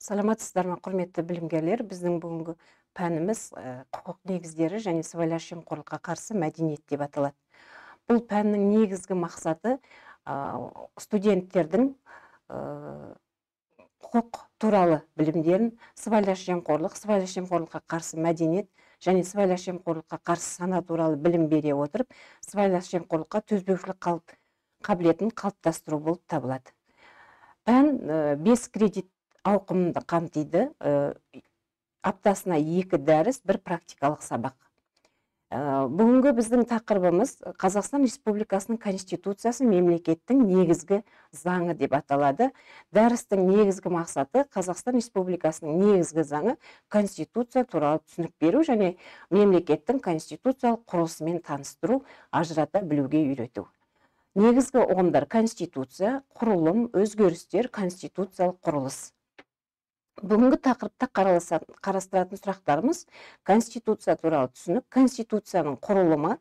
Саламатсыздар ма, құрметті білімгерлер? Біздің бүгінгі пәніміз құқық негіздері және сыбайлас жемқорлыққа қарсы мәдениет деп аталады. Бұл пәннің негізгі мақсаты студенттердің құқық туралы білімдерін сыбайлас жемқорлыққа қарсы мәдениет және сыбайлас жемқорлыққа қарсы сана туралы білім бере отырып, сыбайлас жемқорлыққа төзбеушілік қабілетін қалыптастыру болып табылады. Пән 5 кредит ауқымды қамтиды. Аптасына 2 дәріс, 1 практикалық сабақ. Бүгінгі біздің тақырыбымыз Қазақстан Республикасының Конституциясы мемлекеттің негізгі заңы деп аталады. Дәрістің негізгі мақсаты Қазақстан Республикасының негізгі заңы Конституция туралы түсінік беру және мемлекеттің конституциялық құрылысымен таныстыру, ажырата білуге үйрету. Негізгі ұғымдар: конституция, құрылым, өзгерістер, конституциялық құрылыс. Бүгінгі тақырыпта қарастыратын сұрақтарымыз: конституция туралы түсінік, конституцияның құрылымы,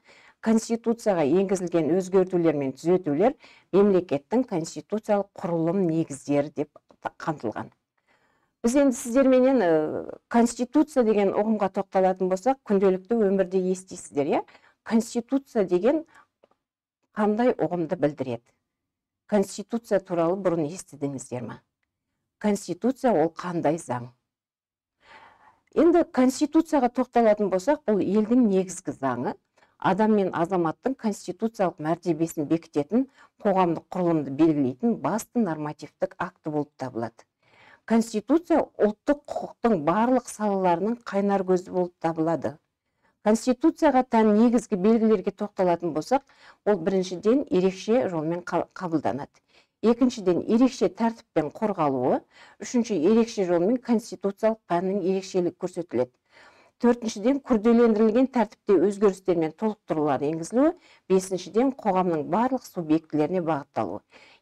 конституцияға енгізілген өзгертулер мен түзетулер, мемлекеттің конституциялық құрылым негіздері деп қамтылған. Біз енді сіздерменен конституция деген ұғымға тоқталатын болсақ, күнделікті өмірде естисіздер, конституция деген қандай ұғымды білдіреді? Конституция туралы бұрын естідіңіздер ме? Конституция ол қандай заң? Енді конституцияға тоқталатын болсақ, бұл елдің негізгі заңы, адам мен азаматтың конституциялық мәртебесін бекітетін, қоғамдық құрылымды белгілейтін басты нормативтік акті болып табылады. Конституция ұлттық құқықтың барлық салаларының қайнар көзі болып табылады. Конституцияға тән негізгі белгілерге тоқталатын болсақ, ол біріншіден ерекше жолмен қабылданады. Екіншіден ерекше тәртіппен қорғалуы, үшінші ерекше жолмен конституциялық пәннің ерекшелігі көрсетіледі. Төртіншіден күрделендірілген тәртіпте өзгерістер мен толықтырулар енгізілуі, бесіншіден қоғамның барлық субъектілеріне бағытталуы.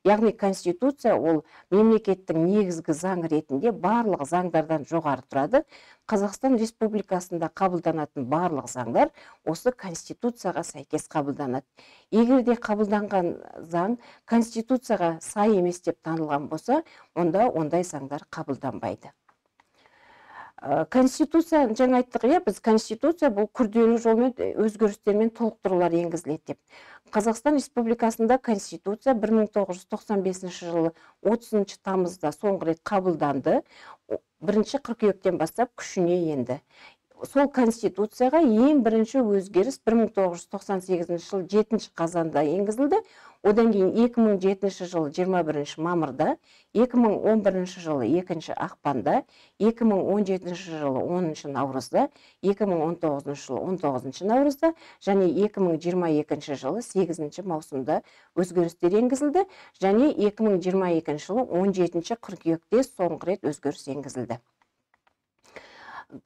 Яғни конституция ол мемлекеттің негізгі заң ретінде барлық заңдардан жоғары тұрады. Қазақстан Республикасында қабылданатын барлық заңдар осы конституцияға сәйкес қабылданады. Егер де қабылданған заң конституцияға сай емес деп танылған болса, онда ондай заңдар қабылданбайды. Конституция, жаңа айттық, біз конституция бұл күрделі жолмен өзгерістер мен толықтырулар енгізіледі деп. Қазақстан Республикасында конституция 1995 жылы 30 тамызда соңғы рет қабылданды, 1 қыркүйектен бастап күшіне енді. Сол конституцияға ең бірінші өзгеріс 1998 жылы 7 қазанда енгізілді. Одан кейін 2007 жылы 21 мамырда, 2011 жылы 2 ақпанда, 2017 жылы 10 наурызда, 2019 жылы 19 наурызда және 2022 жылы 8 маусымда өзгерістер енгізілді және 2022 жылы 17 қыркүйекте соңғы рет өзгеріс енгізілді.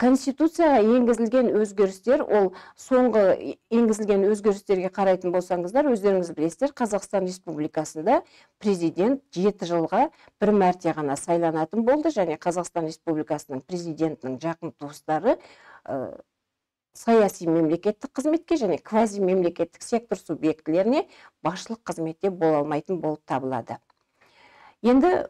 Конституцияға енгізілген өзгерістер, ол соңғы енгізілген өзгерістерге қарайтын болсаңыздар, өздеріңіз білесіздер, Қазақстан Республикасында президент 7 жылға 1 мәрте ғана сайланатын болды және Қазақстан Республикасының президентінің жақын туыстары саяси мемлекеттік қызметке және квази мемлекеттік сектор субъектілеріне басшылық қызметте бола алмайтын болып табылады. Енді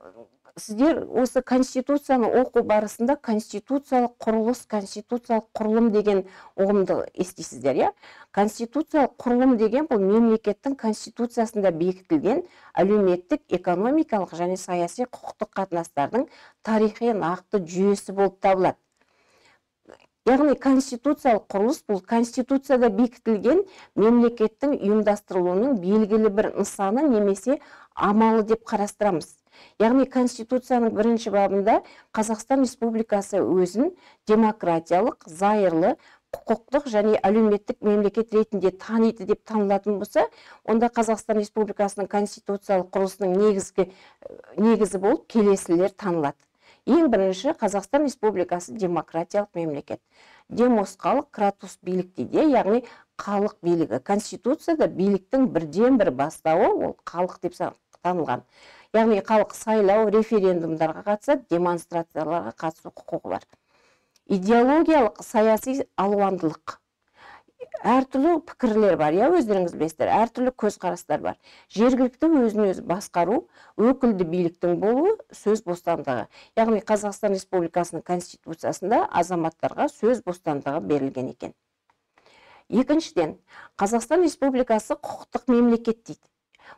сіздер осы конституцияны оқу барысында конституциялық құрылыс, конституциялық құрылым деген ұғымды естисіздер, Конституциялық құрылым деген бұл мемлекеттің конституциясында бекітілген әлеуметтік, экономикалық және саяси құқықтық қатынастардың тарихи нақты жүйесі болып табылады. Яғни конституциялық құрылыс бұл конституцияда бекітілген мемлекеттің ұйымдастырылуының белгілі бір нысаны немесе амалы деп қарастырамыз. Яғни конституцияның 1 бабында Қазақстан Республикасы өзін демократиялық, зайырлы, құқықтық және әлеуметтік мемлекет ретінде таниды деп танылатын болса, онда Қазақстан Республикасының конституциялық құрылысының негізі болып келесілер танылады. Ең бірінші, Қазақстан Республикасы демократиялық мемлекет. Демос халық, кратус билік дейді, яғни халық билігі. Конституцияда биліктің бірден бір бастауы ол халық деп танылған. Яғни халық сайлау, референдумдарға қатысады, демонстрацияларға қатысу құқығы бар. Идеологиялық саяси алуандылық. әртүрлі пікірлер бар, өздеріңіз білесіздер, әртүрлі көзқарастар бар. Жергілікті өзін өзі басқару, өкілді биліктің болуы, сөз бостандығы. Яғни Қазақстан Республикасының Конституциясында азаматтарға сөз бостандығы берілген екен. Екіншіден, Қазақстан Республикасы құқықтық мемлекет дейді.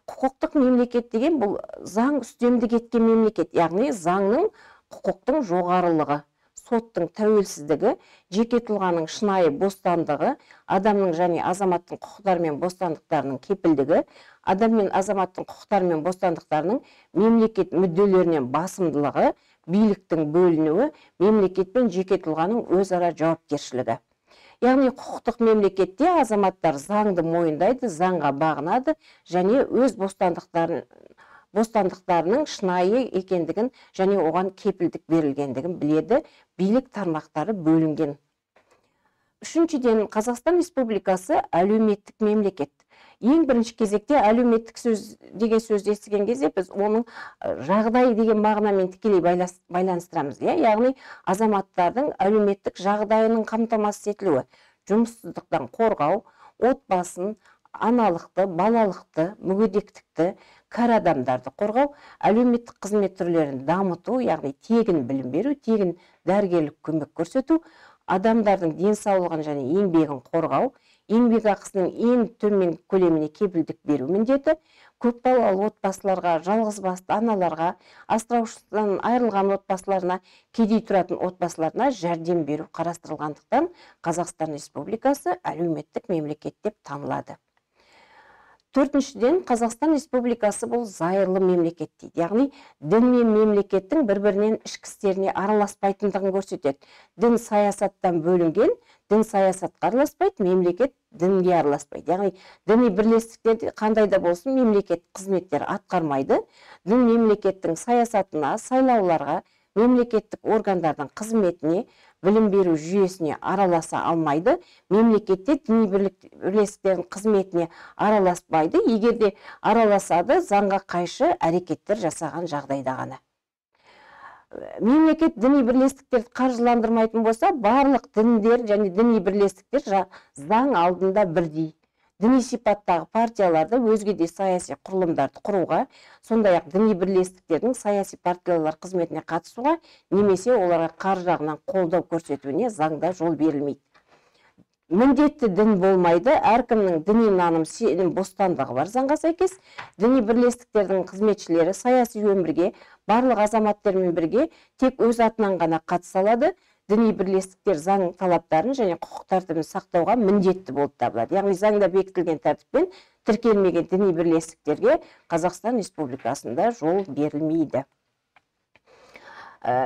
Құқықтық мемлекет деген бұл заң үстемдік еткен мемлекет, яғни заңның, құқықтың жоғарылығы, соттың тәуелсіздігі, жеке тұлғаның шынайы бостандығы, адамның және азаматтың құқықтары мен бостандықтарының кепілдігі, адам мен азаматтың құқықтары мен бостандықтарының мемлекет мүдделерінен басымдылығы, биліктің бөлінуі, мемлекет пен жеке тұлғаның өзара жауапкершілігі. Яғни құқықтық мемлекетте азаматтар заңды мойындайды, заңға бағынады және өз бостандықтарының шынайы екендігін және оған кепілдік берілгендігін біледі, билік тармақтары бөлінген. Үшіншіден, Қазақстан Республикасы әлеуметтік мемлекет. Ең бірінші кезекте әлеуметтік сөз деген сөзді естіген кезде біз оның жағдай деген мағынамен тікелей байланыстырамыз. Яғни азаматтардың әлеуметтік жағдайының қамтамасыз етілуі, жұмыссыздықтан қорғау, отбасын, аналықты, балалықты, мүгедектікті, кәрі адамдарды қорғау, әлеуметтік қызмет түрлерін дамыту, яғни тегін білім беру, тегін дәрігерлік көмек көрсету, адамдардың денсаулығын және еңбегін қорғау, еңбек ақысының ең төмен көлеміне кепілдік беру міндеті, көпбалалы отбасыларға, жалғызбасты аналарға, асыраушысынан айырылған отбасыларына, кедей тұратын отбасыларына жәрдем беру қарастырылғандықтан Қазақстан Республикасы әлеуметтік мемлекет деп танылады. Төртіншіден, Қазақстан Республикасы бұл зайырлы мемлекет дейді. Яғни, дін мен мемлекеттің бір-бірінен ішкі істеріне араласпайтындығын көрсетеді. Дін саясаттан бөлінген, дін саясатқа араласпайды, мемлекет дінге араласпайды. Яғни, діни бірлестіктерде қандай да болсын мемлекет қызметтер атқармайды. Дін мемлекеттің саясатына, сайлауларға, мемлекеттік органдардың қызметіне, білім беру жүйесіне араласа алмайды. Мемлекетте діни бірлестіктердің қызметіне араласпайды. Егер де араласады, заңға қайшы әрекеттер жасаған жағдайда ғана. Мемлекет діни бірлестіктерді қаржыландырмайтын болса, барлық діндер және діни бірлестіктер заң алдында бірдей. Діни сипаттағы партияларды өзге де саяси құрылымдарды құруға, сондай-ақ діни бірлестіктердің саяси партиялар қызметіне қатысуға, немесе оларға қаржы жағынан қолдау көрсетуіне заңда жол берілмейді. Міндетті дін болмайды, әркімнің діни наным сенім бостандығы бар заңға сәйкес. Діни бірлестіктердің қызметшілері саяси өмірге барлық азаматтармен бірге тек өз атынан ғана қатыса алады. Діни бірлестіктер заң талаптарын және құқық тәртібін сақтауға міндетті болып табылады. Яғни заңда бекітілген тәртіппен тіркелмеген діни бірлестіктерге Қазақстан Республикасында жол берілмейді.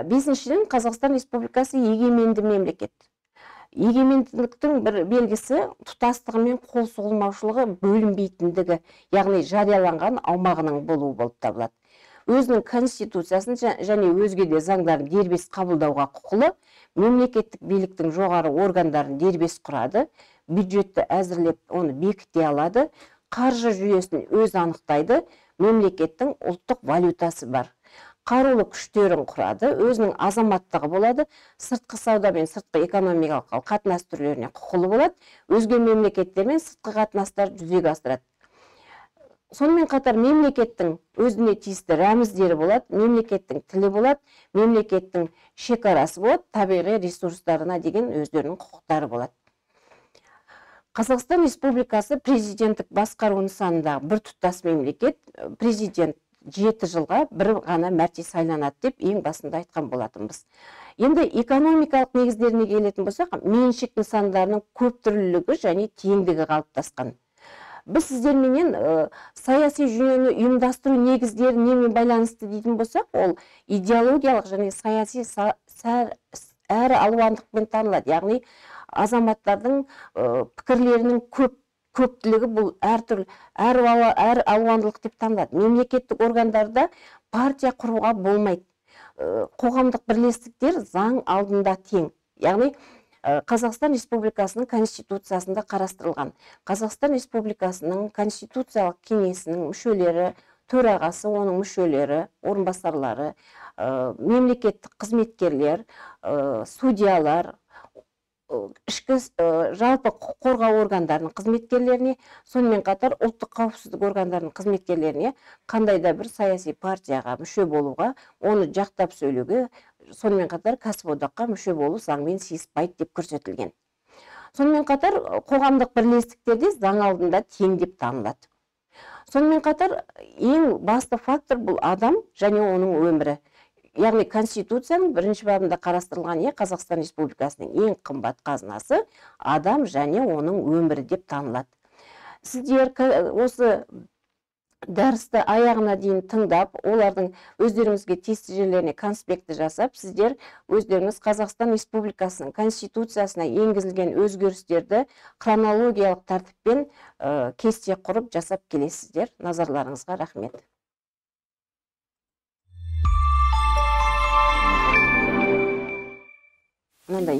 Бесіншіден, Қазақстан Республикасы егеменді мемлекет. Егеменділіктің бір белгісі тұтастығы мен қол соғылмаушылығы бөлінбейтіндігі, яғни жарияланған аумағының болуы болып табылады. Өзінің конституциясын және өзге де заңдарын дербес қабылдауға құқылы, мемлекеттік биліктің жоғары органдарын дербес құрады, бюджетті әзірлеп оны бекіте алады, қаржы жүйесін өз анықтайды, мемлекеттің ұлттық валютасы бар. Қарулы күштерін құрады, өзінің азаматтығы болады, сыртқы сауда мен сыртқы экономикалық қатынас түрлеріне құқылы болады, өзге мемлекеттермен сыртқы қатынастар жүзеге асырады. Сонымен қатар мемлекеттің өзіне тиісті рәміздері болады, мемлекеттің тілі болады, мемлекеттің шекарасы болады, табиғи ресурстарына деген өздерінің құқықтары болады. Қазақстан Республикасы президенттік басқару нысанындағы бір тұтас мемлекет, президент 7 жылға бір ғана мәрте сайланады деп ең басында айтқан болатынбыз. Енді экономикалық негіздеріне келетін болсақ, меншік нысандарының көп түрлілігі және теңдігі қалыптасқан. Біз сіздерменен саяси жүйені ұйымдастыру негіздері немен байланысты дейтін болсақ, ол идеологиялық және саяси әрі алуандықпен танылады. Яғни азаматтардың пікірлерінің көптілігі бұл әр алуандылық деп танылады. Мемлекеттік органдарда партия құруға болмайды. Қоғамдық бірлестіктер заң алдында тең. Яғни Қазақстан Республикасының Конституциясында қарастырылған. Қазақстан Республикасының Конституциялық кеңесінің мүшелері, төрағасы, оның мүшелері, орынбасарлары, мемлекеттік қызметкерлер, судьялар, ішкі жалпы құқық қорғау органдарының қызметкерлеріне, сонымен қатар ұлттық қауіпсіздік органдарының қызметкерлеріне қандай да бір саяси партияға мүше болуға, оны жақтап сөйлеуге, сонымен қатар кәсіподаққа мүше болу заңмен сыйыспайды деп көрсетілген. Сонымен қатар қоғамдық бірлестіктерде заң алдында тең деп танылады. Сонымен қатар ең басты фактор бұл адам және оның өмірі. Яғни Конституцияның бірінші бабында қарастырылған Қазақстан Республикасының ең қымбат қазынасы адам және оның өмірі деп танылады. Сіздер осы дәрісті аяғына дейін тыңдап, олардың өздеріңізге тиісті жерлеріне конспекті жасап, сіздер өздеріңіз Қазақстан Республикасының Конституциясына енгізілген өзгерістерді хронологиялық тәртіппен кесте құрып жасап келесіздер. Назарларыңызға рахмет. Мынандай